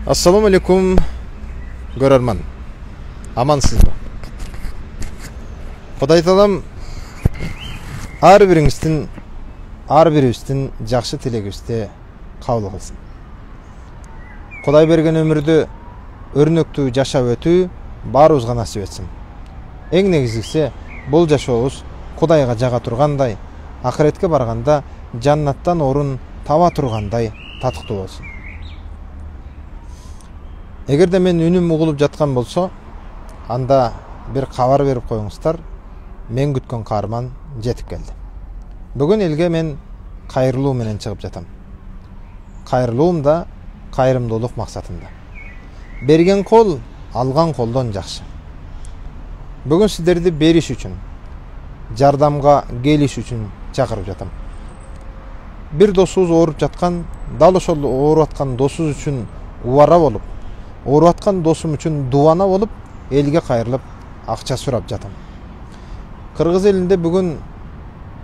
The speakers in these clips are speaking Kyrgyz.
Assalamu alaikum көрөрман. Амансызбы? Кудай таалам ар бирибиздин жакшы тилегибизди кабыл кылсын. Кудай берген өмүрдү өрнөктүү жашап өтүү баарыбызга насип этсин. Эң негизгиси бул жашообуз Кудайга жага тургандай, акыретке барганда жаннаттан орун таба тургандай татыктуу болсун. Эгерде мен үнүм угулуп жаткан болсо, анда бир кабар берип коюңуздар. Мен күткөн каарман жетип келди. Бүгүн элге мен кайрылуу менен чыгып жатам. Кайрылуум да кайрымдуулук максатында. Берген кол алган колдон жакшы. Бүгүн сиздерди бериш үчүн, жардамга келиш үчүн чакырып жатам. Бир досубуз ооруп жаткан, дал ошол ооруп аткан досубуз үчүн убара болуп, ооруп аткан досум үчүн дубана болуп, элге кайрылып акча сурап жатам. Кыргыз элинде бүгүн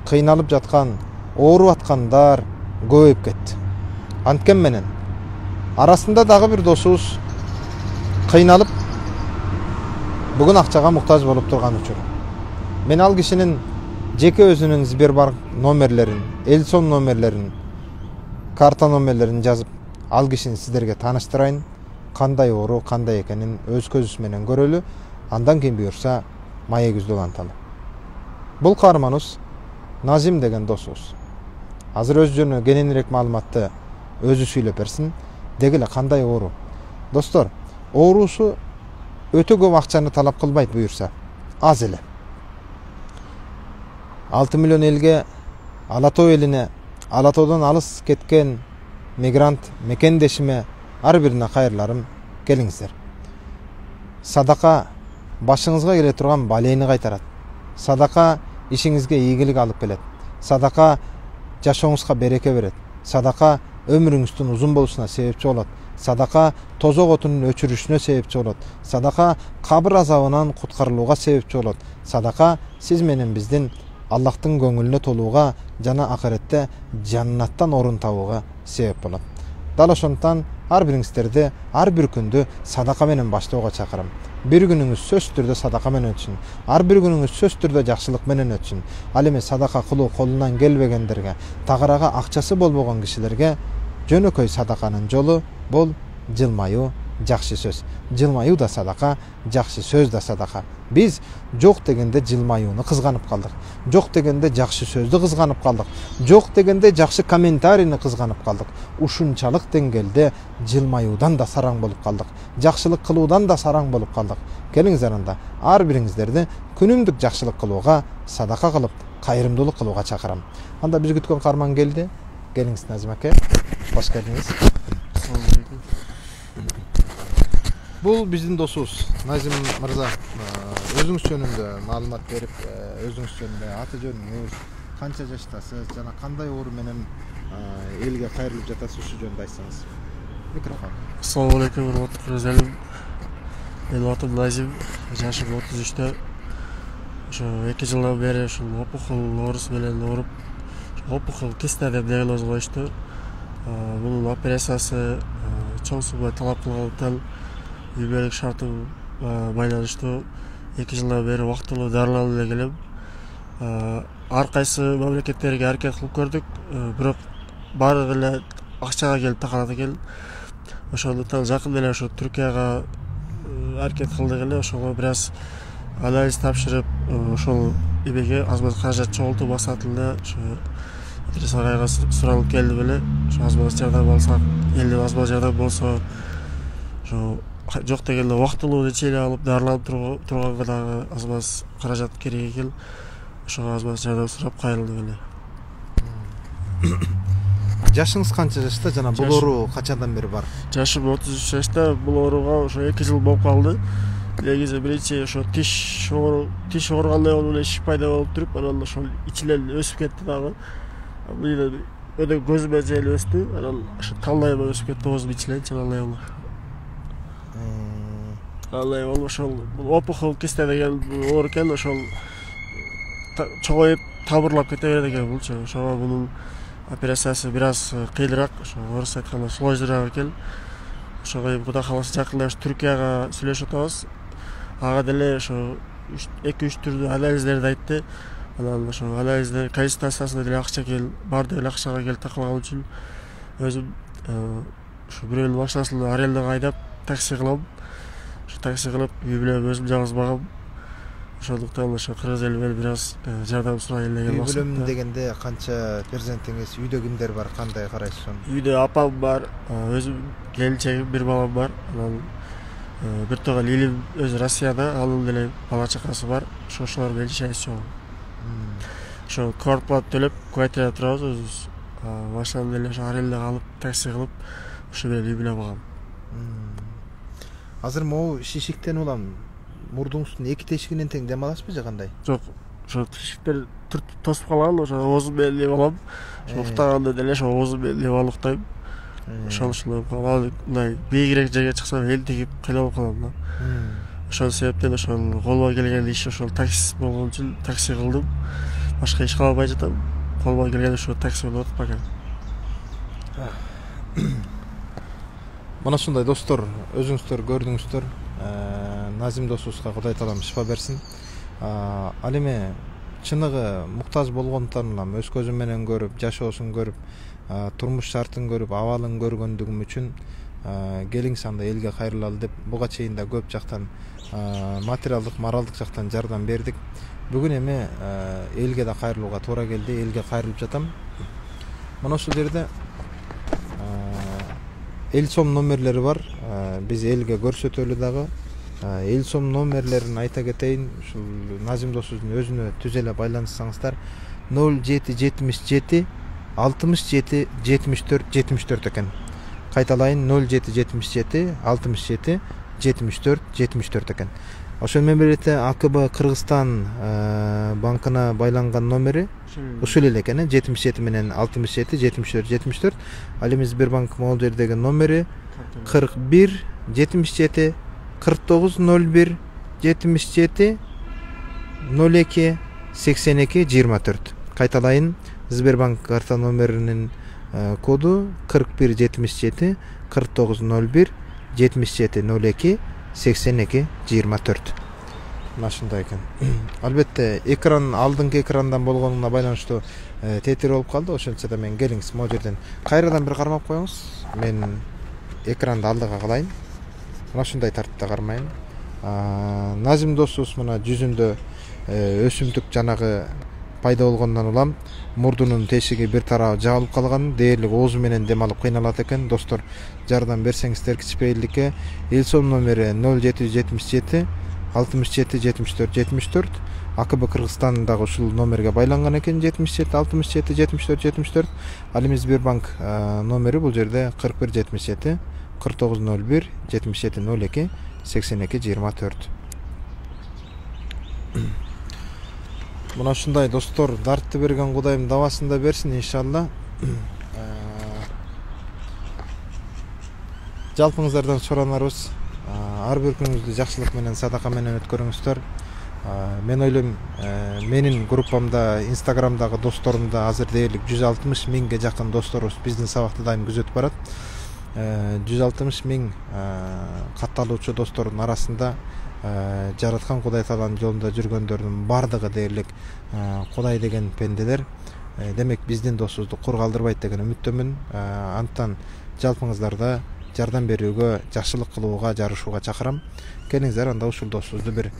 кыйналып жаткан, ооруп аткандар көбөйүп кетти. Анткен менен арасында дагы бир досубуз кыйналып бүгүн акчага муктаж болуп турган учур. Мен ал кишинин жеке өзүнүн Сбербанк номерлерин, Элсон номерлерин, карта номерлерин жазып, ал кишини сиздерге тааныштырайын. Кандай оору, кандай экенин өз көзүбүз менен көрөлү. Андан кийин буюрса маегибизди уланталы. Бул каарманыбыз Назим деген досубуз. Азыр өз жөнүнө кененирээк маалыматты өзү сүйлөп берсин. Деги эле кандай оору? Достор, оорусу өтө көп акчаны талап кылбайт буюрса, аз эле. 6 миллион элге, Ала Тоо элине, Ала Тоодон алыс кеткен мигрант мекендешиме ар бирине кайырларым, келиңиздер. Садака башыңызга келе турган балейни кайтарат. Садака ишиңизге ийгилик алып келет. Садака жашооңузга береке берет. Садака өмүрүңүздүн узун болушуна себепчи болот. Садака тозок отунун өчүрүшүнө себепчи болот. Садака кабыр азабынан куткарылууга себепчи болот. Садака сиз менен биздин Аллахтын көңүлүнө толууга жана акыретте жаннаттан орун табууга себеп болот. Дал ошондуктан ар бириңиздерди ар бир күндү садака менен баштоого чакырам. Бир күнүңүз сөзсүз түрдө садака менен өтсүн. Ар бир күнүңүз сөзсүз түрдө жакшылык менен өтсүн. Ал эми садака кылуу колунан келбегендерге, тагырага акчасы болбогон кишилерге жөнөкөй садаканын жолу бул жылмаюу, жакшы сөз. Жылмаюу да садака, жакшы сөз да садака. Биз жок дегенде жылмаюуну кызганып калдык. Жок дегенде жакшы сөздү кызганып калдык. Жок дегенде жакшы комментарийни кызганып калдык. Ушунчалык деңгээлде жылмаюудан да сараң болуп калдык. Жакшылык кылуудан да сараң болуп калдык. Келиңиздер анда ар бириңиздерди күнүмдүк жакшылык кылууга, садака кылып, кайрымдуулук кылууга чакырам. Анда биз күткөн каарман келди. Келиңиз Назим аке. Кош келдиңиз. Бул биздин досубуз Назим мырза. Өзүңүз жөнүндө маалымат берип, өзүңүз жөнүндө аты жөнүңүз, канча жаштасыз жана кандай оору менен элге кайрылып жатасыз, ушу жөнүндө айтсаңыз. Микрофон. Ассаламу алейкум, урматтуу көрөрман. Менин атым Назим, жашым 33-тө. Ошо 2 жылдан бери ушул опухол оорусу менен ооруп, опухол киста деп диагноз коюшту. Бунун операциясы чоң сумма талап кылгандыктан үй бүлөлүк шартым байланыштуу 2 жылдан бери убактылуу дарыланып эле келем. Ар кайсы мамлекеттерге аракет кылып көрдүк, бирок баардыгы эле акчага келип такалат экен. Ошондуктан жакында эле ошо Түркияга аракет кылдык эле, ошого бир аз анализ тапшырып, ошол эмеге азбаз каражат чогултуп басатылда ошо Идрис агайга суралып келдим эле. Ошо азбаз жардам алсак, элден азбаз жардам болсо, ошо жок дегенде убактылуу лечение алып дарыланып турганга дагы азбаз каражат керек экен. Ошого азбаз жардам сурап кайрылдым эле. Жашыңыз канча жашта жана бул оору качандан бери бар? Жашым 33 жашта, бул ооруга ошо 2 жыл болуп калды. Негизи биринчи ошо тиш ооругандай болуп эле ишик пайда болуп туруп, анан ошол ичинен өсүп кетти дагы. Мына өдө көзүмө жел өстү, анан ошо талайыма өсүп кетти оозумун ичинен чалалайым. Алай болуп ошол опухол киста деген оору экен, ошол чоңоюп табырлап кете берет экен булчу. Ошого бунун операциясы бир аз кыйыныраак, ошо орусча айтканда сложныйраак экен. ошого Кудай кааласа жакында Түркияга сүйлөшүп атабыз. Ага деле ошо 2-3 түрдүү анализдерди айтты. Анан ошо анализдер консультациясына деле акча барды эле акчага келип такылган үчүн өзүм ошо бирөөнүн машинасына арендага айдап такси кылам. Ошо такси кылып үй бүлөм өзүм жалгыз багам. Ошондуктан ошо кыргыз элинен бир аз жардам сурайын деген максатта. Үй бүлөм дегенде канча перзентиңиз, үйдө кимдер бар, кандай карайсыз аны? Үйдө апам бар, өзүм келинчегим, бир балам бар. Анан бир тогон элим өзү Россияда, анын деле бала чакасы бар. Ошолор менен жашайбыз чогуу. Ошо квартплата төлөп, квартирада турабыз өзүбүз. Машинаны деле ошо арендага алып, такси кылып, ошо менен үй бүлө багам. Азыр могу шишиктен улам мурдуңуздун эки тешигинен тең дем аласызбы же кандай? Жок, ошо тешиктер тосуп калган, ошо оозум менен нем алам. Ошо уктаганда деле ошо оозум менен нем алып уктайм. Ошону мындай бийигирээк жерге чыксам элтигип кыйналып калам да. Ошол себептен ошол колума келген иш ошол такси болгон үчүн такси кылдым. Башка иш кыла албай жатам. Колума келген ошо такси менен отуруп бакам. Мына ушундай достор, өзүңүздөр көрдүңүздөр. Назим досубузга Кудай таалам шифа берсин. Ал эми чыныгы муктаж болгондуктан улам өз көзүм менен көрүп, жашоосун көрүп, турмуш шартын көрүп, абалын көргөндүгүм үчүн келиңиз анда элге кайрылалы деп буга чейин да көп жактан материалдык, моралдык жактан жардам бердик. Бүгүн эми элге да кайрылууга туура келди, элге кайрылып жатам. Мына ушул жерде эл сом номерлери бар. Биз элге көрсөтөлү дагы. Эл сом номерлерин айта кетейин. Ушул Назим досубуздун өзүнө түз эле байланышсаңыздар 0777 67 74 74 экен. Кайталайын 0777 67 74 74 экен. Ошол менен бирге АКБ Кыргызстан банкына байланган номери ушул эле экен, 77 менен 67 74 74. Ал эми Сбербанк могул жердеги номери 41 77 49 01 77 02 82 24. Кайталайын, Сбербанк карта номеринин коду 41 77 49 01 77 02 82 24. Мына ушундай экен. Албетте экран алдыңкы экрандан болгонуна байланыштуу тетир болуп калды. Ошентсе да мен келиңиз могу жерден кайрадан бир кармап коюңуз. Мен экранды алдыга кылайын. Мына ушундай тартипте кармайын. Назим досубуз мына жүзүндө өсүмдүк жанагы пайда болгондон улам мурдунун тешиги бир тарабы жабылып калган, дээрлик оозу менен дем алып кыйналат экен. Достор, жардам берсеңиздер кичпейилдикке. Эл сом номери 0777 67 74 74. АКБ Кыргызстан дагы ушул номерге байланган экен, 77 67 74 74. Ал эми Сбербанк номери бул жерде 41 77 49 01 77 02 82 24. Мына ушундай достор, дартты берген Кудайым дабасын да берсин иншалла. Жалпыңыздардан суранарыбыз, ар бир күнүңүздү жакшылык менен, садака менен өткөрүңүздөр. Мен ойлойм, менин группамда, Инстаграмдагы досторумда азыр дээрлик 160 миңге жакын досторубуз биздин сабакты дайым күзөтүп барат. 160 миң катталуучу достордун арасында жараткан Кудай тааланын жолунда жүргөндөрдүн бардыгы дээрлик Кудай деген пенделер. Демек биздин досубузду кур калтырбайт деген үмүттөмүн. Антан жалпыңыздарда жардам берүүгө, жакшылык кылууга, жарышууга чакырам. Келиңиздер, анда ушул досубузду бир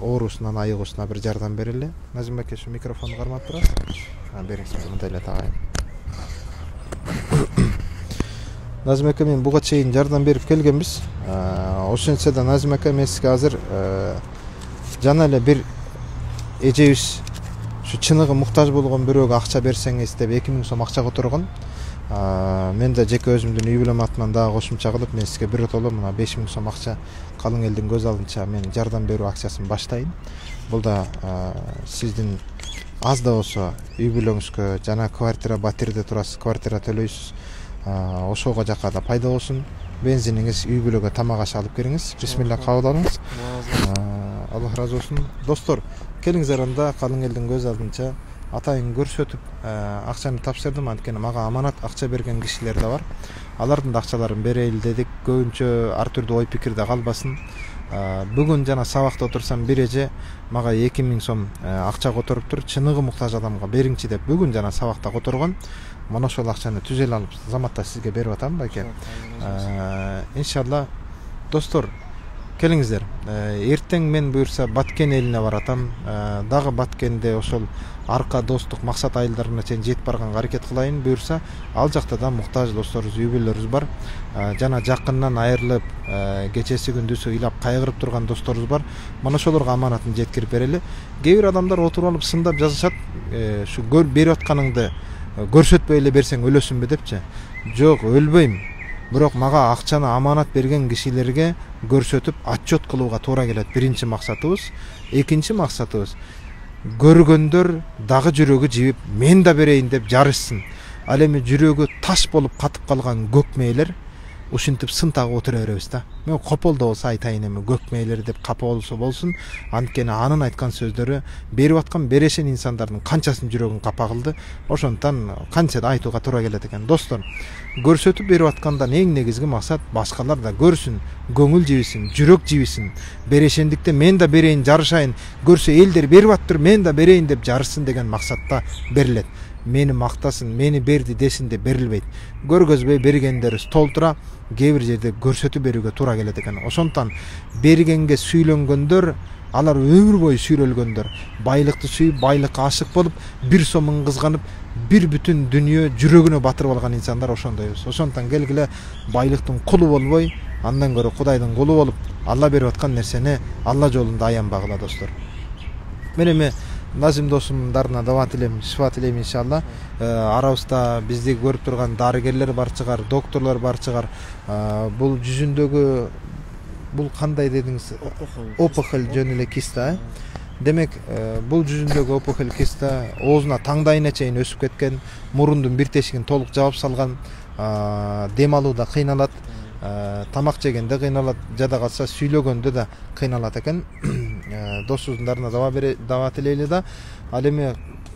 оорусунан, айыгуусуна бир жардам берели. Назим аке, ушу микрофонду кармап турасыз. Бериңиз, мындай эле тагайын. Назим аке, мен буга чейин жардам берип келгенбиз. Ошентсе да Назим аке, мен сизге азыр жана эле бир эжебиз ушу чыныгы муктаж болгон бирөөгө акча берсеңиз деп 2000 сом акча которгон. Мен да жеке өзүмдүн үй бүлөм атынан дагы кошумча кылып, мен сизге биротоло мына 5000 сом акча калың элдин көз алдынча мен жардам берүү акчасын баштайын. Бул да сиздин аз да болсо үй бүлөңүзгө, жана квартира, батирде турасыз, квартира төлөйсүз. Ошого жака да пайда болсун. Бензиниңиз үй бүлөгө тамак аш алып келиңиз. Бисмилла, кабыл алыңыз. Аллах разы болсун. Достор, келиңиздер, анда калың элдин көз алдынча атайын көрсөтүп акчаны тапшырдым. Анткени мага аманат акча берген кишилер да бар. алардын да акчаларын берели дедик. Көбүнчө ар түрдүү ой пикирде калбасын. Бүгүн жана сабакта отурсам бир эже мага 2000 сом акча которуптур. Чыныгы муктаж адамга бериңчи деп бүгүн жана сабакта которгон. Мына ошол акчаны түзеле алып заматта сизге берип атам байке. Иншалла достор, келиңиздер. Эртең мен буюрса Баткен элине баратам. Дагы Баткенде ошол арка достук максат айылдарына чейин жетип барганга аракет кылайын. Буюрса ал жакта да муктаж досторубуз, үй бүлөлөрүбүз бар. Жана жакындан айрылып, кечеси күндүзү ыйлап кайгырып турган досторубуз бар. Мына ошолорго аманатын жеткирип берели. Кээ бир адамдар отуруп алып сындап жазышат, ушу берип атканыңды көрсөтпөй эле берсең өлөсүңбү депчи. Жок, өлбөйм. Бирок мага акчаны аманат берген кишилерге көрсөтүп отчет кылууга туура келет. Биринчи максатыбыз. Экинчи максатыбыз көргөндөр дагы жүрөгү жибип мен да берейин деп жарышсын. Ал эми жүрөгү таш болуп катып калган көкмейлер ушинтип сын тагып отура беребиз да. Мен копол да болсо айтайын эми көкмейлер деп капа болсо болсун. Анткени анын айткан сөздөрү берип аткан берешен инсандардын канчасын жүрөгүн капа кылды. Ошондон канча да айтууга туура келет экен. Достор, көрсөтүп берип аткандан эң негизги максат башкалар да көрсүн, көңүл жибисин, жүрөк жибисин. Берешендикте мен да берейин, жарышайын, көрсө элдер берип аттыр, мен да берейин деп жарышсын деген максатта берилет. Мени мактасын, мени берди десин деп берилбейт. Көргөзбөй бергендерибиз толтура, кээ бир жерде көрсөтүп берүүгө туура келет экен. Ошондон бергенге сүйлөнгөндөр, алар өмүр бою сүйлөлгөндөр, байлыкты сүйүп, байлыкка ашык болуп, бир сомун кызганып, бир бүтүн дүнүйө жүрөгүнө батырып алган инсандар ошондойбуз. Ошондон келгиле байлыктын кулу болбой, андан көрө Кудайдын кулу болуп, Алла берип аткан нерсени Алла жолунда аянбагыла достор. Мен эми Назим досумдарына дава тилейм, шифа тилейм иншалла. Арабызда бизди көрүп турган дарыгерлер бар чыгар, докторлор бар чыгар. Бул жүзүндөгү бул кандай дедиңиз? Опухоль жөн эле киста. Демек, бул жүзүндөгү опухоль киста оозуна таңдайына чейин өсүп кеткен, мурундун бир тешигин толук жаап салган, дем алууда кыйналат, тамак жегенде кыйналат, жада калса сүйлөгөндө да кыйналат экен. Досуңдарына дава тилейли да. Ал эми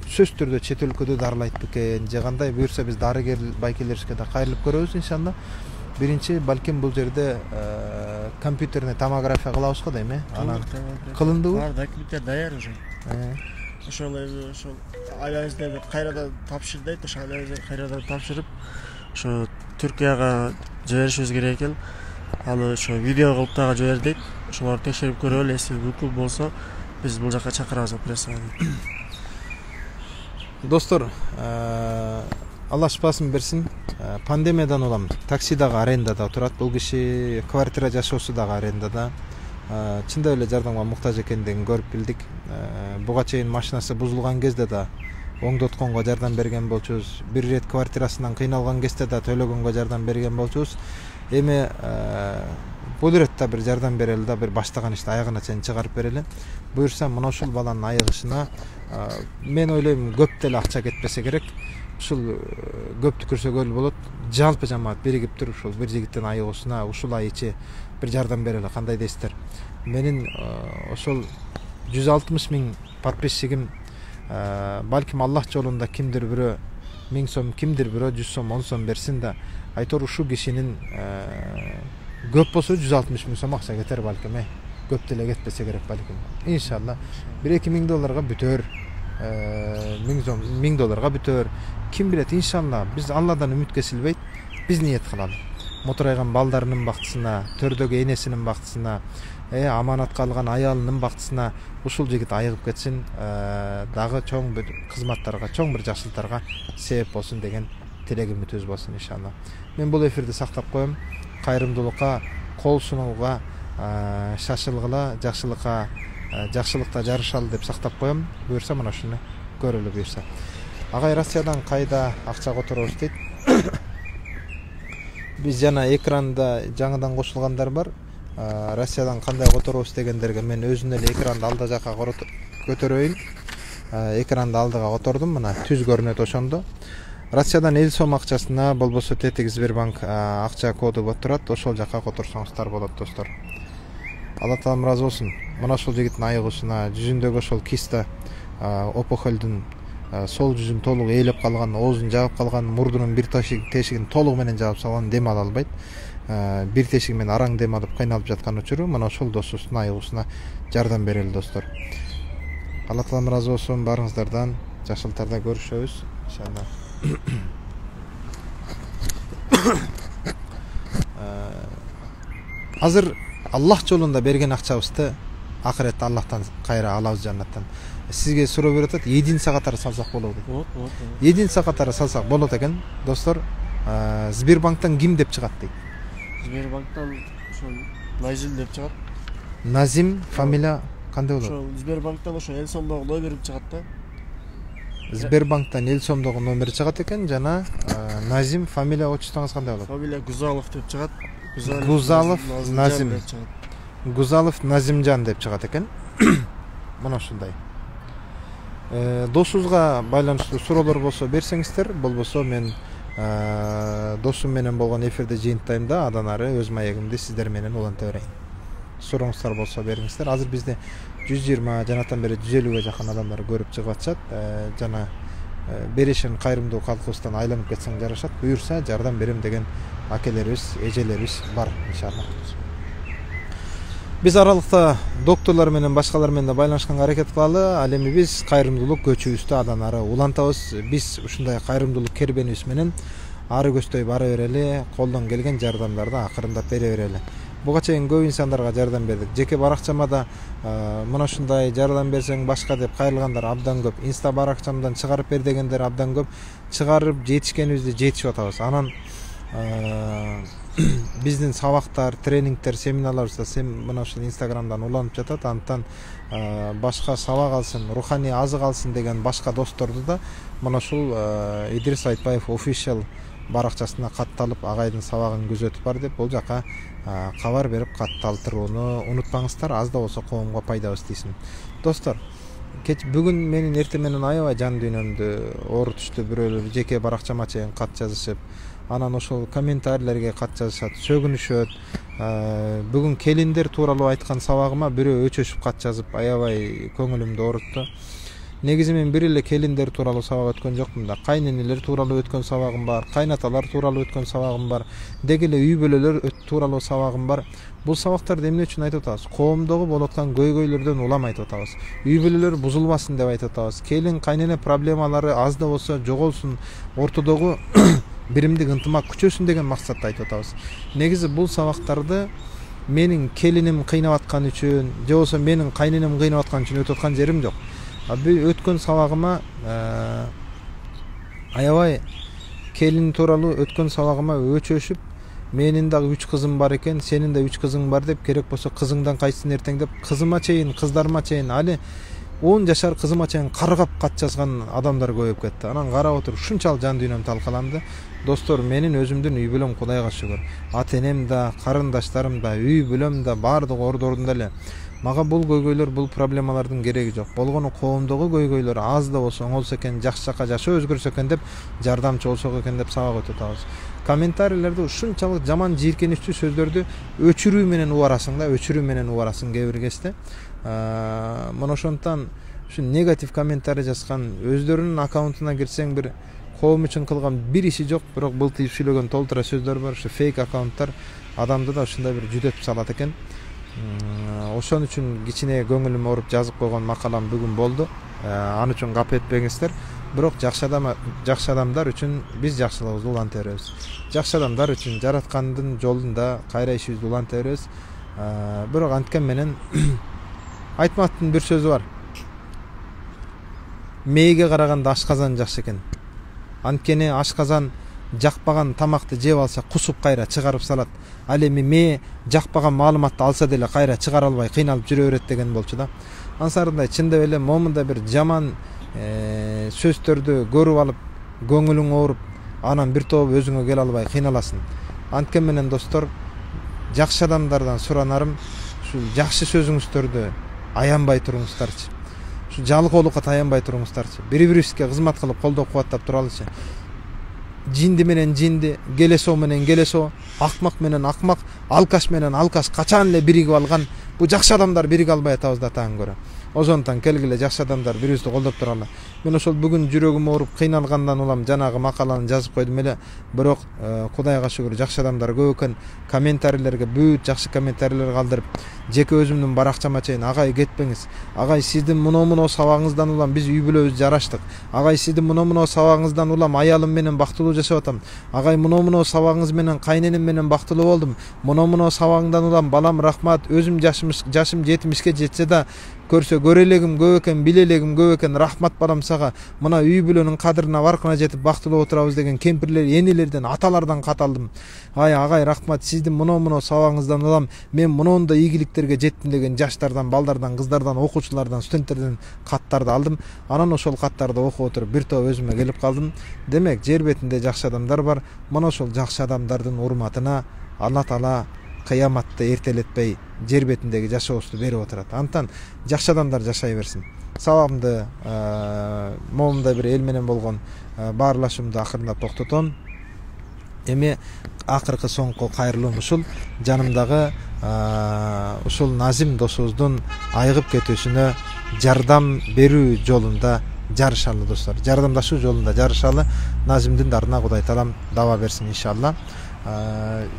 сөзсүз түрдө чет өлкөдө дарылайт бекен, же кандай буюрса биз дарыгер байкелерибизге да кайрылып көрөбүз иншалла. Биринчи балким бул жерде компьютерный томография кылабыз го дейм, анан кылындыбы? Бар, документтер даяр уже. Ошол айлабызды кайрадан тапшырдайт, ошо айлабызды кайрадан тапшырып, ошо Түркияга жиберишибиз керек экен. Аны ошо видео кылып дагы жибердик. Ошолорду текшерип көрөлү, эси бүкүл болсо биз бул жака чакырабыз операцияга. Достор, Алла шифасын берсин. Пандемиядан улам такси дагы арендада турат. Бул киши квартира жашоосу дагы арендада. Чындап эле жардамга муктаж экендигин көрүп билдик. Буга чейин машинасы бузулган кезде да оңдотконго жардам берген болчубуз. Бир ирет квартирасынан кыйналган кезде да төлөгөнгө жардам берген болчубуз. Эми бул иретте бир жардам берели да, бир баштаган ишти аягына чейин чыгарып берели. Буюрса, мына ушул баланын айыгышына мен ойлойм көп деле акча кетпесе керек. Ушул көп түкүрсөгөл болот. Жалпы жамаат биригип туруп ушул бир жигиттин айыгышына ушул ай ичи бир жардам берели. Кандай дейсиздер? Менин ошол 160 000 подписчигим, балким Аллах жолунда кимдир бирөө 1000 сом, кимдир бирөө 100 сом, 10 сом берсин да, айтор ушул кишинин көп болсо 160 000 сом акча кетер балким, көп деле кетпесе керек балким. Иншалла $1-2 миң бүтөр, 1000 долларга бүтөр. Ким билет, иншалла биз Алладан үмүт кесилбейт, биз ниет кылалы. Мотурайган балдарынын бактысына, төрдөгү энесинин бактысына, аманатка алган аялынын бактысына ушул жигит айыгып кетсин, дагы чоң бир кызматтарга, чоң бир жакшылыктарга себеп болсун деген тилек үмүтүбүз болсун иншалла. Мен бул эфирди сактап коем. Кайрымдуулукка, кол сунууга шашылгыла, жакшылыкта жарышалы деп сактап коем. Буюрса мына ушуну көрөлү буюрса. Агай, Россиядан кайда акча которобуз дейт. Биз жана экранда жаңыдан кошулгандар бар. Россиядан кандай которобуз дегендерге мен өзүнүн эле экранды алда жака көтөрөйүн. Экранды алдыга котордум, мына түз көрүнөт ошондо. Россиядан 50 сом акчасына болбосо тетик Сбербанк акча коду болуп турат. Ошол жака которсоңуздар болот достор. Алла таалам ыраазы болсун. Мына ошол жигиттин айыгышына, жүзүндөгү ошол киста опухолдун сол жүзүн толук ээлеп калган, оозун жаап калган, мурдунун бир тешигин толугу менен жаап салган, дем ала албайт. Бир тешиги менен араң дем алып кыйналып жаткан учуру мына ошол досубуздун айыгуусуна жардам берели достор. Алла таалам ыраазы болсун баарыңыздардан. Жакшылыктарда көрүшөбүз иншалла. Азыр Аллах жолунда берген акчабызды акыретте Аллахтан кайра алабыз жаннаттан. Сизге суроо берип атат, единица катары салсак болобу дейт. Болот. Единица катары салсак болот экен, достор. Сбербанктан ким деп чыгат дейт? Сбербанктан ошо Назим деп чыгат. Назим фамилия кандай болот? Ошо Сбербанктан ошо эл сомдогу номери чыгат да. Сбербанктан эл сомдогу номери чыгат экен, жана Назим фамилия отчествоңуз кандай болот? Фамилия Гузалов деп чыгат. Гузалов Назим. деп чыгат. Гузалов Назимжан деп чыгат экен. Мына ушундай. Досубузга байланыштуу суроолор болсо берсеңиздер, болбосо мен досум менен болгон эфирде жыйынтайм да, андан ары өз маегимди сиздер менен уланта берейин. Сурооңуздар болсо бериңиздер. Азыр бизде 120 жанатан бери 150ге жакын адамдар көрүп чыгып атышат. Жана беришин кайрымдуу калкыбыздан айланып кетсең жарашат. Буюрса жардам берем деген акелерибиз, эжелерибиз бар иншалла. Биз аралыкта докторлор менен башкалар менен да байланышканга аракет кылалы. Ал эми биз кайрымдуулук көчүбүздү андан ары улантабыз. Биз ушундай кайрымдуулук кербенибиз менен ары көздөй бара берели, колдон келген жардамдарды акырындап бере берели. Буга чейин көп инсандарга жардам бердик. Жеке баракчама да мына ушундай жардам берсең башка деп кайрылгандар абдан көп. Инста баракчамдан чыгарып бер дегендер абдан көп. Чыгарып жетишкенибизди жетишип атабыз. Анан биздин сабактар, тренингдер, семинарларыбызда мына ушул инстаграмдан уланып жатат. Антан башка сабак алсын, руханий азык алсын деген башка досторду да мына ушул Идрис Айтбаев official баракчасына катталып, агайдын сабагын күзөтүп бар деп бул жака кабар берип катталтырууну унутпаңыздар. Аз да болсо коомго пайдабыз тийсин. Достор, бүгүн менин эртең менен аябай жан дүйнөмдү оорутушту. Бирөөлөр жеке баракчама чейин кат жазышып, анан ошол комментарийлерге кат жазышат, сөгүнүшөт. Бүгүн келиндер тууралуу айткан сабагыма бирөө өчөшүп кат жазып, аябай көңүлүмдү оорутtu. Негизи мен бир эле келиндер тууралуу сабак өткөн жокмун да. Кайненелер тууралуу өткөн сабагым бар, кайнаталар тууралуу өткөн сабагым бар, деги эле үй бүлөлөр тууралуу сабагым бар. Бул сабактарды эмне үчүн айтып атабыз? Коомдогу болуп аткан көйгөйлөрдөн улам айтып атабыз. Үй бүлөлөр бузулбасын деп айтып атабыз. Келин кайнене проблемалары аз да болсо жоголсун, ортодогу биримдик ынтымак күчөсүн деген максатта айтып атабыз. Негизи бул сабактарды менин келиним кыйнап аткан үчүн, же болбосо менин кайненем кыйнап аткан үчүн өтүп аткан жерим жок. Өткөн сабагыма аябай келин тууралуу өткөн сабагыма өчөшүп, менин дагы 3 кызым бар экен, сенин да 3 кызың бар деп, керек болсо кызыңдан кайсысын эртең деп, кызыма чейин, кыздарыма чейин, али 10 жашар кызыма чейин каргап кат жазган адамдар көбөйүп кетти. Анан карап отуруп ушунчалык жан дүйнөм талкаланды. Достор, менин өзүмдүн үй бүлөм Кудайга шүгүр. Ата-энем да, карындаштарым да, үй бүлөм да баардыгы ордорунда эле. Мага бул көйгөйлөр, бул проблемалардын кереги жок. Болгону коомдогу көйгөйлөр аз да болсо оңолсо экен, жакшы жака жашоо өзгөрсө экен деп, жардамчы болсок экен деп сабак өтүп атабыз. Комментарийлерде ушунчалык жаман жийиркеничтүү сөздөрдү өчүрүү менен убарасың да, өчүрүү менен убарасың кээ бир кезде. Мына ошондон ушу негатив комментарий жазган өздөрүнүн аккаунтуна кирсең бир коом үчүн кылган бир иши жок, бирок былтыйып сүйлөгөн толтура сөздөр бар. Ушу фейк аккаунттар адамды да ушундай бир жүдөтүп салат экен. Ошон үчүн кичине көңүлүм ооруп жазып койгон макалам бүгүн болду. Аны үчүн капа этпеңиздер. Бирок жакшы адамдар үчүн биз жакшылыгыбызды уланта беребиз. Жакшы адамдар үчүн жараткандын жолунда кайра ишибизди уланта беребиз. Бирок анткен менен Айтматтын бир сөзү бар. Мээге караганда ашказан жакшы экен. Анткени ашказан жакпаган тамакты жеп алса кусуп кайра чыгарып салат. Ал эми мээ жакпаган маалыматты алса деле кайра чыгара албай кыйналып жүрө берет деген болчу да. Ансарындай чындап эле момунда бир жаман сөздөрдү көрүп алып, көңүлүң ооруп, анан бир топ өзүңө келе албай кыйналасың. Анткен менен достор, жакшы адамдардан суранарым, ушул жакшы сөзүңүздөрдү аянбай туруңуздарчы. Ушу жалкоолукка таянбай туруңуздарчы. Бири-бирибизге кызмат кылып, колдоо кубаттап туралычы. Жинди менен жинди, келесоо менен келесоо, акмак менен акмак, алкаш менен алкаш качан эле биригип алган. Бу жакшы адамдар бириге албай атабыз да таң көрө. ошондон келгиле жакшы адамдар бирибизди колдоп турган. Мен ошол бүгүн жүрөгүм ооруп кыйналгандан улам жанагы макаланы жазып койдум эле. Бирок Кудайга шүгүр жакшы адамдар көп экен. Комментарийлерге бүт жакшы комментарийлер калдырып, жеке өзүмдүн баракчама чейин агай кетпеңиз. Агай сиздин мына сабагыңыздан улам биз үй бүлөбүз жараштык. Агай сиздин мына сабагыңыздан улам аялым менен бактылуу жашап атам. Агай мына сабагыңыз менен кайненем менен бактылуу болдум. Мына сабагыңдан улам балам рахмат. Өзүм жашым 70ке жетсе да көрсө көрелегим көп экен, билелегим көп экен. Рахмат балам сага. Мына үй бүлөнүн кадырына баркына жетип бактылуу отурабыз деген кемпирлер, энелерден, аталардан кат алдым. Агай рахмат, сиздин мына сабагыңыздан улам мен мондой ийгиликтерге жеттим деген жаштардан, балдардан, кыздардан, окуучулардан, студенттерден каттарды алдым. Анан ошол каттарды окуп отуруп бир топ өзүмө келип калдым. Демек, жер бетинде жакшы адамдар бар. Мына ошол жакшы адамдардын урматына Алла Таала кыяматты эртелетпей жер бетиндеги жашообузду берип отурат. Антан жакшы адамдар жашай берсин. Сабагымды момундай бир эл менен болгон баарлашуумду акырындап токтотом. Эми акыркы соңку кайрылуум ушул жанымдагы ушул Назим досубуздун айыгып кетүүсүнө жардам берүү жолунда жарышалы достор. Жардамдашуу жолунда жарышалы. Назимдин дарына Кудай Таалам даба берсин иншалла.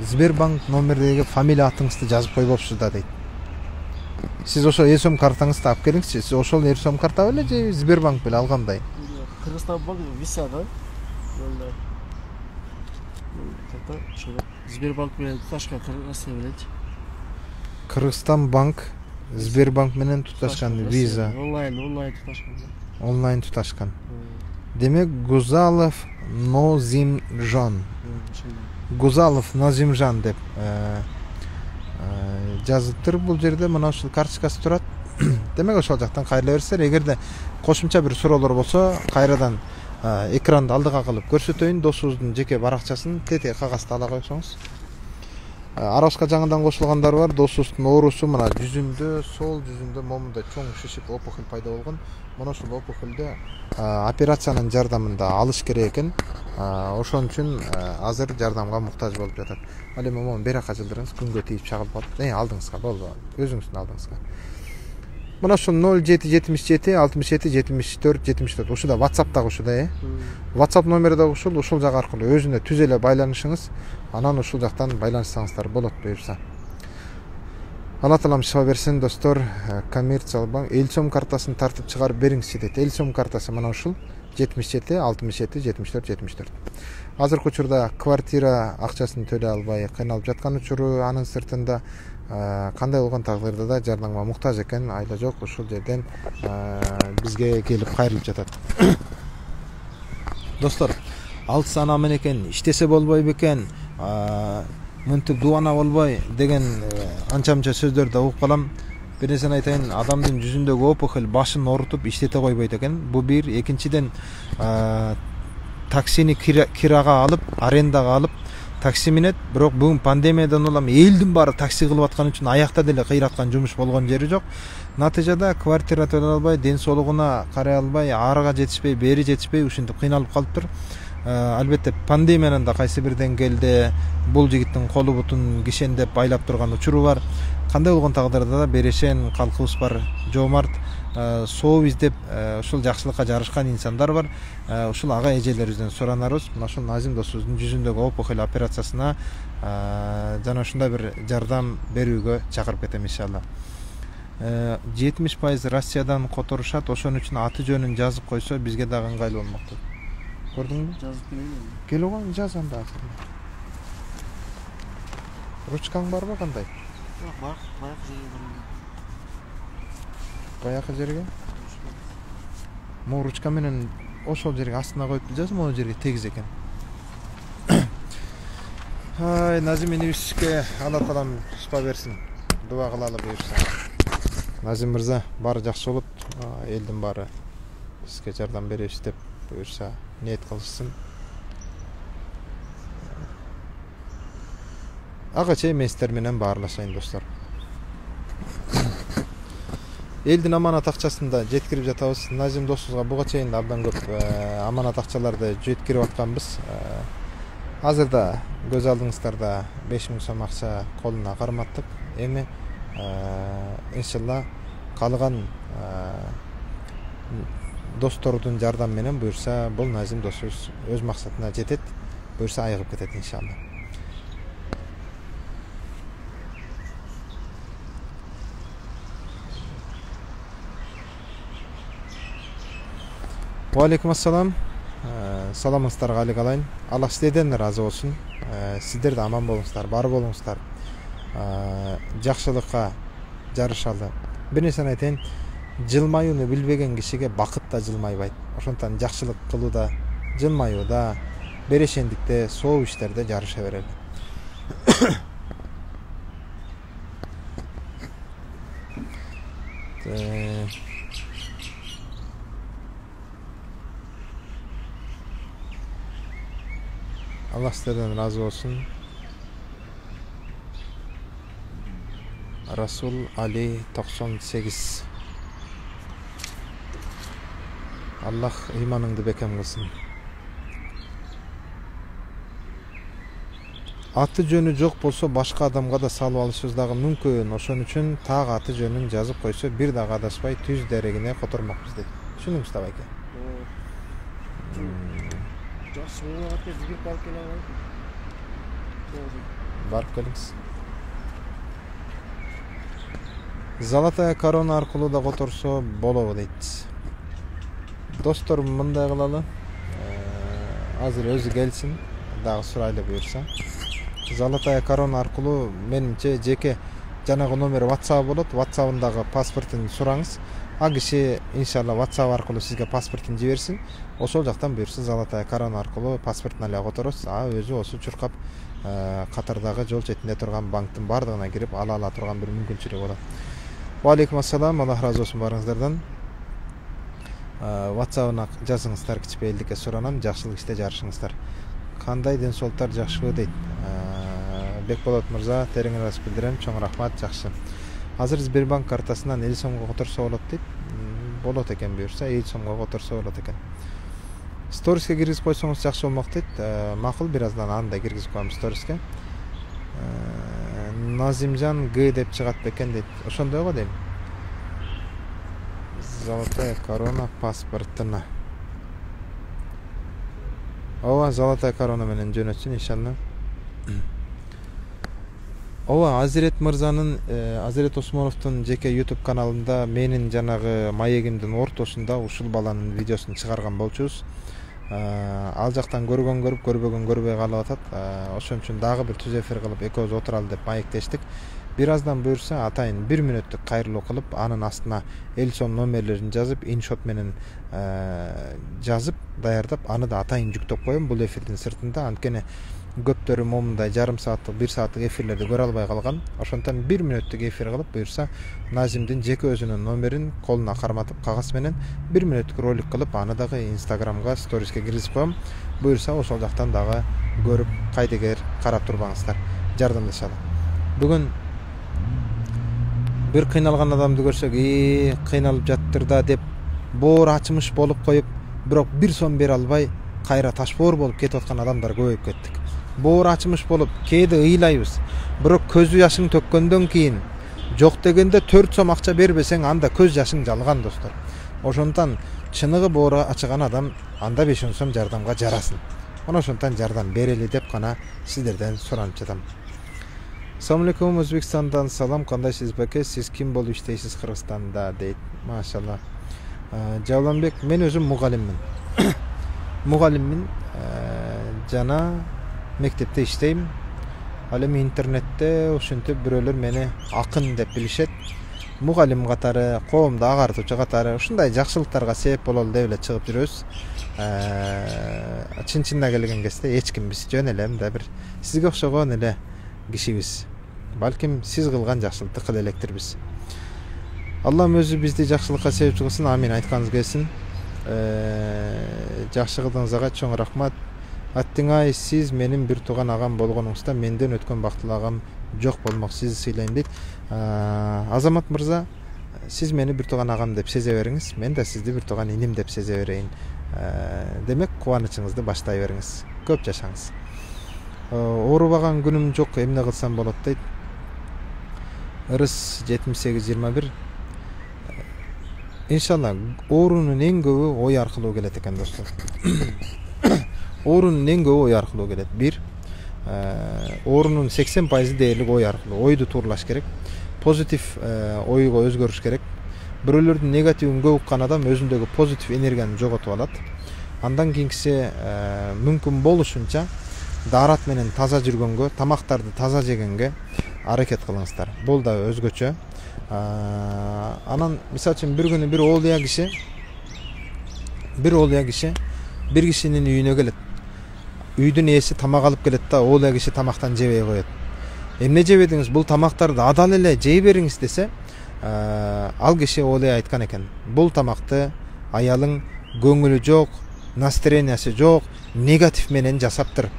Сбербанк номердеги фамилия атыңызды жазып койбопсуз да дейт. Сиз ошол эл-сом картаңызды алып келиңизчи. Сиз ошол эл-сом карта беле же Сбербанк беле алгандай? Кыргызстан банк виса да. Сбербанк менен туташкан Кыргызстан белеч. Кыргызстан банк Сбербанк менен туташкан виза. Онлайн туташкан. Онлайн туташкан. Демек Гузалов Нозимжан. Гузалов Назимжан деп жазылыптыр бул жерде. Мына ушул карточкасы турат. Демек ошол жактан кайрыла берсеңер. Эгерде кошумча бир суроолор болсо, кайрадан экранды алдыга кылып көрсөтөйүн. Досубуздун жеке баракчасын тете кагазды ала койсоңуз. Арабска жаңыдан кошулгандар бар. Досубуздун оорусу мына жүзүндө, сол жүзүндө момундай чоң шишип опухоль пайда болгон. Мына ушул опухолду операциянын жардамында алыш керек экен. Ошон үчүн азыр жардамга муктаж болуп жатат. Ал эми момун бери жака жылдырыңыз, күнгө тийип чагылып калат. Алдыңызга болду. Өзүңүздүн алдыңызга. Мына ушул 0777 67 74 74. Ушуда WhatsApp дагы ушуда, WhatsApp номери дагы ушул жак аркылуу өзүнө түз эле байланышыңыз. Анан ушул жактан байланышсаңыздар болот буюрса. Алла Таалам шифа берсин достор. Коммерциялык банк эл-сом картасын тартып чыгарып бериңизчи дейт. эл-сом картасы мына ушул 77 67 74 74. Азыркы учурда квартира акчасын төлөй албай кыйналып жаткан учуру, анын сыртында кандай болгон тагдырда да жардамга муктаж экен. Айла жок, ушул жерден бизге келип кайрылып жатат. Достор, алыс ана менен иштесе болбой бекен, мынтип дубана болбой деген анча-мынча сөздөрдү угуп калам. Бир нерсени айтайын, адамдын жүзүндөгү опухоль башын оорутуп иштете койбойт экен. Бу бир. Экинчиден, таксини кирага алып, арендага алып такси минет. Бирок бүгүн пандемиядан улам элдин баары такси кылып аткан үчүн аякта деле кыйраткан жумуш болгон жери жок. Натыйжада квартира төлөй албай, ден соолугуна карай албай, арыга жетишпей, бери жетишпей ушинтип кыйналып калыптыр. Албетте пандемиянын да кайсы бир деңгээлде бул жигиттин колу бутун кишендеп байлап турган учуру бар. Кандай болгон тагдырда да берешен калкыбыз бар, жоомарт, соо издеп ушул жакшылыкка жарышкан инсандар бар. Ушул ага эжелерибизден суранарбыз. Мына ушул Назим досубуздун жүзүндөгү опухоль операциясына жана ушундай бир жардам берүүгө чакырып кетем иншалла. 70% Россиядан которушат, ошон үчүн аты жөнүн жазып койсо бизге дагы ыңгайлуу болмок деп. Көрдүңбү? Жазып келейин. Келип кой, жаз анда. Ручкаң барбы кандай? Бар, баягы жерге барам. Баягы жерге? Могу ручка менен ошол жерге астына коюп жаз, могу жерге тегиз экен. Ай, Назим инибизге Алла Таалам шифа берсин. Дуа кылалы буюрса. Назим мырза, баары жакшы болот. Элдин баары сизге жардам беребиз деп буюрса ниет кылышсын. Ага чейин мен сиздер менен баарлашайын достор. Элдин аманат акчасын да жеткирип жатабыз. Назим досубузга буга чейин абдан көп аманат акчаларды жеткирип атканбыз. Азыр да көз алдыңыздарда 5000 сом акча колуна карматтык. Эми иншалла калган достордун жардамы менен буюрса бул Назим досубуз өз максатына жетет, буюрса айыгып кетет иншалла. Алейкум ассалам. Саламыңыздарга алык алайын. Аллах сиздерден ыраазы болсун. Сиздер да аман болуңуздар, бар болуңуздар. Жакшылыкка жарышалы. Бир нерсени айтайын. Жылмаюуну билбеген кишиге бакыт да жылмайбайт. Ошондуктан жакшылык кылууда, жылмаюуда, берешендикте, соо иштерде жарыша берели. Allah sizlerden razı olsun. Rasul Ali 98. Allah imanыңды бекем кылсын. Аты жөнү жок болсо башка адамга да салып алышыбыз дагы мүмкүн. Ошон үчүн так аты жөнүн жазып койсо бир дагы адаспай түз дерегине котормокпуз дейт. Түшүндүңүз да байке? Барып келиңиз. Золотая корона аркылуу да которсо болобу дейт. Достор, мындай кылалы. Азыр өзү келсин, дагы сурайлы буюрса. Золотая корона аркылуу менимче жеке жанагы номер WhatsApp болот. WhatsApp'ындагы паспортун сураңыз. А киши иншалла WhatsApp аркылуу сизге паспортун жиберсин. Ошол жактан буюрса Золотая корона аркылуу паспортун эле которосуз. А өзү осу чуркап катардагы жол четинде турган банктын бардыгына кирип ала турган бир мүмкүнчүлүк болот. Алейкум ассалам. Аллах разы болсун барыңыздардан. WhatsApp'ына жазыңыздар, кичпейилдикке суранам, жакшылык иште жарышыңыздар. Кандай ден соолуктар, жакшыбы дейт. Бекболот мырза, терең ыраазычылык билдирем, чоң рахмат, жакшы. Азыр Сбербанк картасынан 50 сомго которсо болот дейт. Болот экен буюрса, 50 сомго которсо болот экен. Сториске киргизип койсоңуз жакшы болмок дейт. Макул, бир аздан аны да киргизип коем сториске. Назимжан Г деп чыгат бекен дейт. Ошондой го дейм. Золотая корона паспортуна. Ооба, Золотая корона менен жөнөтсүн иншалла. Ооба, Азирет мырзанын, Азирет Осмоновдун жеке YouTube каналында менин жанагы маегимдин ортосунда ушул баланын видеосун чыгарган болчубуз. Ал жактан көргөн көрүп, көрбөгөн көрбөй калып атат. Ошон үчүн дагы бир түз эфир кылып экөөбүз отуралы деп маектештик. Бир аздан буюрса атайын 1 мүнөттүк кайрылуу кылып, анын астына 50 сом номерлерин жазып, иншот менен жазып, даярдап, аны да атайын жүктөп коем бул эфирдин сыртында. Анткени көптөрү момундай жарым сааттык, 1 сааттык эфирлерди көрө албай калган. Ошондон 1 мүнөттүк эфир кылып, буюрса Назимдин жеке өзүнүн номерин колуна карматып, кагаз менен 1 мүнөттүк ролик кылып, аны дагы Instagramга, сториске киргизип коем. Буюрса ошол жактан дагы көрүп, кайдыгер карап турбаңыздар. Жардамдашалы. Бүгүн бир кыйналган адамды көрсөк, кыйналып жаттыр да деп боор ачымыш болуп коюп, бирок 1 сом бере албай кайра ташбоор болуп кетип аткан адамдар көбөйүп кеттик. Боор ачымыш болуп, кээде ыйлайбыз. Бирок көз жашың төккөндөн кийин жок дегенде 4 сом акча бербесең, анда көз жашың жалган достор. Ошондон чыныгы боору ачыган адам анда 5 сом жардамга жарасын. Ошондон жардам берели деп гана сиздерден суранып жатам. Assalamu alaikum, Өзбекстандан салам, кандайсыз беке? Сиз ким болуп иштейсиз Кыргызстанда дейт. Машалла. Жауланбек, мен өзүм мугалиммин. Мугалиммин, жана мектепте иштейм. Ал эми интернетте ушинтип бирөөлөр мени акын деп билишет. Мугалим катары, коомду агартуучу катары ушундай жакшылыктарга себеп бололу деп эле чыгып жүрөбүз. Чын-чынына келген кезде эч кимбиз, жөн эле да бир сизге окшогон эле кишибиз. Балким сиз кылган жакшылыкты кыла электирбиз. Аллам өзү бизди жакшылыкка себепчи кылсын. Амин, айтканыңыз келсин. Жакшы кылдığыңызга чоң рахмат. Аттыңай, сиз менин бир тууган агам болгонуңузда менден өткөн бактылуу агам жок болмок. Сизди сыйлайм дейт. Азамат мырза, сиз мени бир тууган агам деп сезе бериңиз. Мен да сизди бир тууган иним деп сезе берейин. Демек, кубанычыңызды баштай бериңиз. Көп жашаңыз. Оорубаган күнүм жок, эмне кылсам болот дейт. Ырыс 7821. иншалла оорунун эң көбү ой аркылуу келет экен достор. Оорунун эң көбү ой аркылуу келет. Бир, оорунун 80% дээрлик ой аркылуу. Ойду тууралаш керек. Позитив ойго өзгөрүш керек. Бирөөлөрдүн негативин көп уккан адам өзүндөгү позитив энергияны жоготуп алат. Андан кийинкиси мүмкүн болушунча даарат менен таза жүргөнгө, тамактарды таза жегенге аракет кылыңыздар. Бул да өзгөчө. Анан мисалы үчүн бир күнү бир оолуя киши бир кишинин үйүнө келет. Үйдүн ээси тамак алып келет да, оолуя киши тамактан жебей коет. Эмне жебедиңиз? Бул тамактарды адал эле жей бериңиз десе, ал киши оолуя айткан экен. Бул тамакты аялың көңүлү жок, настроениясы жок, негатив менен жасаптыр.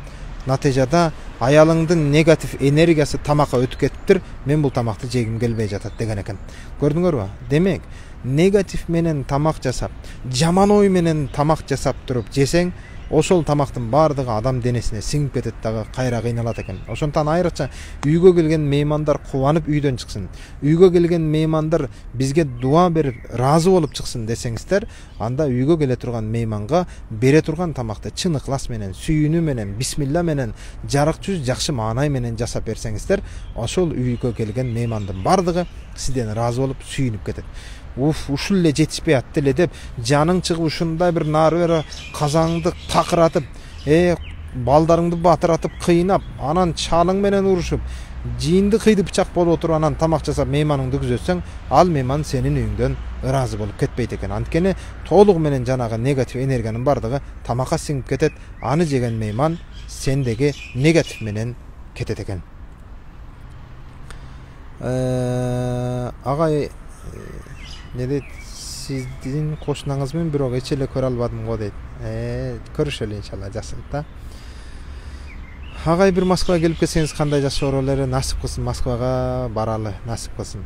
Натыйжада аялыңдын негатив энергиясы тамакка өтүп кетиптир. Мен бул тамакты жегим келбей жатат деген экен. Көрдүңөрбү? Демек, негатив менен тамак жасап, жаман ой менен тамак жасап туруп жесең, ошол тамактын баардыгы адам денесине сиңип кетет дагы, кайра кыйналат экен. Ошондон айрыкча үйгө келген меймандар кубанып үйдөн чыксын. Үйгө келген меймандар бизге дуа берип, ыраазы болуп чыксын десеңиздер, анда үйгө келе турган мейманга бере турган тамакты чын ыклас менен, сүйүүнү менен, бисмилла менен, жарык жүз жакшы маанай менен жасап берсеңиздер, ошол үйгө келген меймандын баардыгы сизден ыраазы болуп, сүйүнүп кетет. Ушул эле жетишпей атты эле деп, жаның чыгып ушундай бир нары бери казаңды такыратып, балдарыңды батыратып, кыйнап, анан чалың менен урушуп, жийинди кыйды бычак болуп отуруп, анан тамак жасап мейманыңды күзөтсөң, ал мейман сенин үйүңдөн ыраазы болуп кетпейт экен. Анткени толугу менен жанагы негатив энергиянын бардыгы тамакка сиңип кетет. Аны жеген мейман сендеги негатив менен кетет экен. Агай не дейт, сиздин кошунаңызмын, бирок эч эле көрө албадым го дейт. Көрүшөлү иншалла, жакшы да. Агай бир Москвага келип кетсеңиз кандай жакшы болор эле, насип кылсын, Москвага баралы, насип кылсын.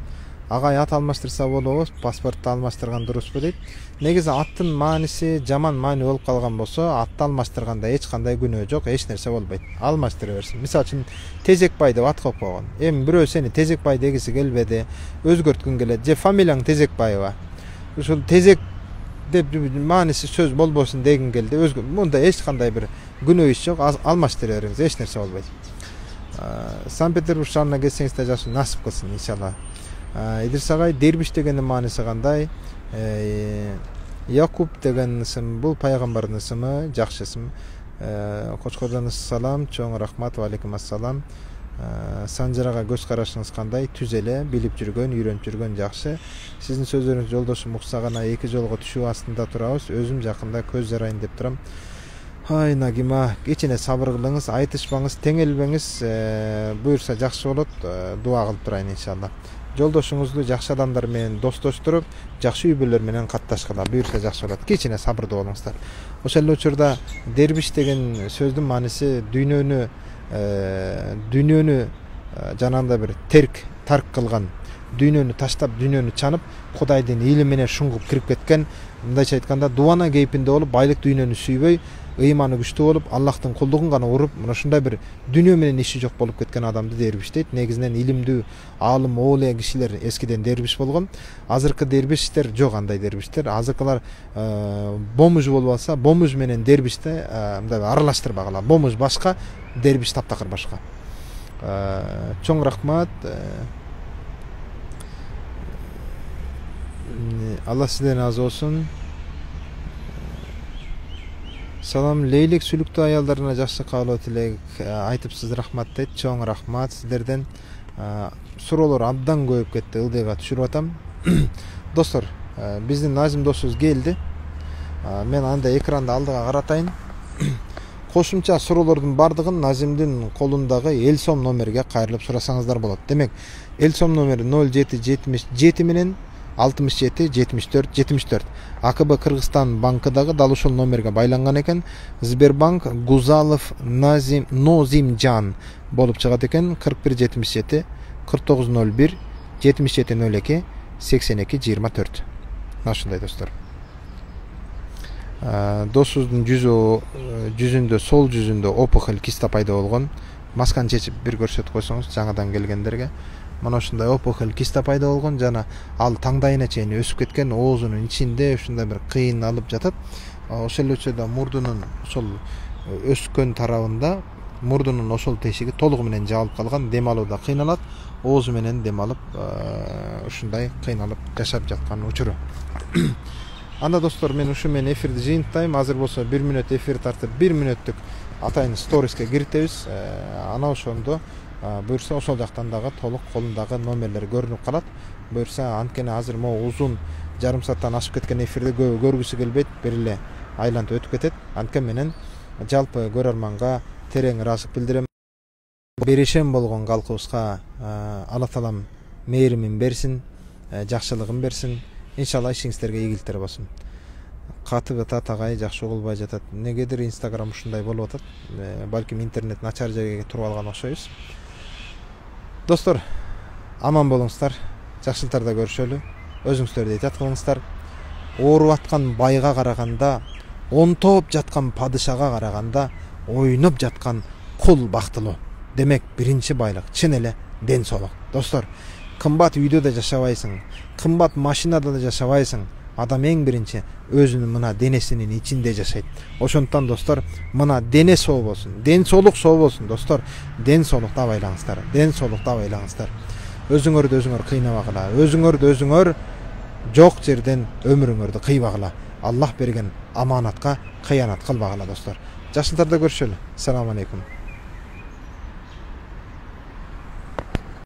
Агай ат алмаштырса болобу, паспортту алмаштырган дурусбу дейт. Негизи аттын мааниси жаман маани болуп калган болсо, атты алмаштырганда эч кандай күнөө жок, эч нерсе болбойт. Алмаштыра берсин. Мисалы үчүн Тезекбай деп ат коюп койгон. Эми бирөө сени Тезекбай дегиси келбеди, өзгөрткүң келет, же фамилияң Тезекбаева. Ушул Тезек деп мааниси сөз болбосун дегин келди. Мында эч кандай бир күнөө иш жок, алмаштыра бериңиз, эч нерсе болбойт. Санкт-Петербург шаарына келсеңиз да жакшы, насип кылсын иншалла. Идрис агай, дербиш дегендин маанisi кандай? Якуб деген ысым, бул пайгамбардын ысымы, жакшы ысым. Кочкордон салам, чоң рахмат, ва алейкум ассалам. Санжарага көз карашыңыз кандай? Түз эле, билип жүргөн, үйрөнүп жүргөн жакшы. Сиздин сөздөрүңүз жолдошум укса гана эки жолго түшүү астында турабыз. Өзүм жакында көз жарайын деп турам. Ай Нагима, кичине сабыр кылыңыз, айтышпаңыз, теңелбеңиз, буюрса жакшы болот. Дуа кылып турайын иншалла. Жолдошуңузду жакшы адамдар менен достоштуруп, жакшы үй бүлөлөр менен катташкыла, буюрса жакшы болот. Кичине сабырдуу болуңуздар. Ошол эле учурда дербиш деген сөздүн мааниси дүйнөнү жанагындай бир тарк кылган, дүйнөнү таштап, дүйнөнү чанып, Кудайдын ийли менен шуңгуп кирип кеткен, мындайча айтканда дубана кейпинде болуп, байлык дүйнөнү сүйбөй, ыйманы күчтүү болуп, Аллахтын кулдугун гана уруп, мына ушундай бир дүйнө менен иши жок болуп кеткен адамды дербиш дейт. Негизинен илимдүү, аалым, оолуя кишилер эскиден дербиш болгон. Азыркы дербиштер жок, андай дербиштер. Азыркылар бомуж болуп алса, бомуж менен дербиште мындай аралаштырбагыла. Бомуж башка, дербиш таптакыр башка. Чоң рахмат. Алла сизден разы болсун. Салам, лейлик сүлүктүү аялдарына жакшы каалоо тилек айтыпсыз, рахмат дейт. Чоң рахмат сиздерден. Суроолор абдан көбөйүп кетти, ылдыйга түшүрүп атам. Достор, биздин Назим досубуз келди. Мен анда экранды алдыга каратайын. Кошумча суроолордун бардыгын Назимдин колундагы эл сом номерге кайрылып сурасаңыздар болот. Демек, эл сом номери 0777 менен 67-74-74. АКБ Кыргызстан банкыдагы дал ушул номерге байланган экен. Сбербанк Гузалов Нозимжан болуп чыгат экен. 4177 4901 7702 8224. Ушундай достор. Досубуздун жүзүндө, сол жүзүндө опухоль, киста пайда болгон. Масканы чечип бир көрсөтүп койсоңуз жаңадан келгендерге. Мына ушундай опухоль киста пайда болгон жана ал таңдайына чейин өсүп кеткен, оозунун ичинде ушундай бир кыйын алып жатат. Ошол эле учурда мурдунун ошол өскөн тарабында мурдунун ошол тешиги толугу менен жабылып калган, дем алууда кыйналат, оозу менен дем алып ушундай кыйналып жашап жаткан учуру. Анда достор, мен ушу менен эфирди жыйынтайм. Азыр болсо 1 мүнөт эфир тартып 1 мүнөттүк атайын сториске киритебиз. Ана ошондо буюрса ошол жактан дагы толук колундагы номерлер көрүнүп калат. Буюрса анткени азыр могу узун жарым сааттан ашып кеткен эфирди көргүсү келбейт, бир эле айлантып өтүп кетет. Анткени менен жалпы көрөрманга терең ыраазычылык билдирем. Беришем болгон калкыбызга Алла таалам мээримин берсин, жакшылыгын берсин. Иншалла ишиңиздерге ийгиликтер болсун. Катыбы татагай жакшы угулбай жатат. Негедир Instagram ушундай болуп атат. Балким интернет начар жерге туруп алган окшойбуз. Достор, аман болуңуздар. Жакшылыктарда көрүшөлү. Өзүңүздөрдү этият кылыңыздар. Ооруп аткан байга караганда, онтоп жаткан падышага караганда, ойноп жаткан кул бактылуу. Демек, биринчи байлык чын эле ден соолук. Достор, кымбат үйдө да жашабайсың, кымбат машинада да жашабайсың. Адам эң биринчи өзүнүн мына денесинин ичинде жашайт. Ошондуктан достор, мына дене соо болсун, ден соолук соо болсун достор. Ден соолукта байлаңыздар. Ден соолукта байлаңыздар. Өзүңөрдү өзүңөр кыйнабагыла. Өзүңөрдү өзүңөр жок жерден өмүрүңөрдү кыйбагыла. Аллах берген аманатка кыянат кылбагыла достор. Жакшылыктарда көрүшөлү. Assalamu alaikum.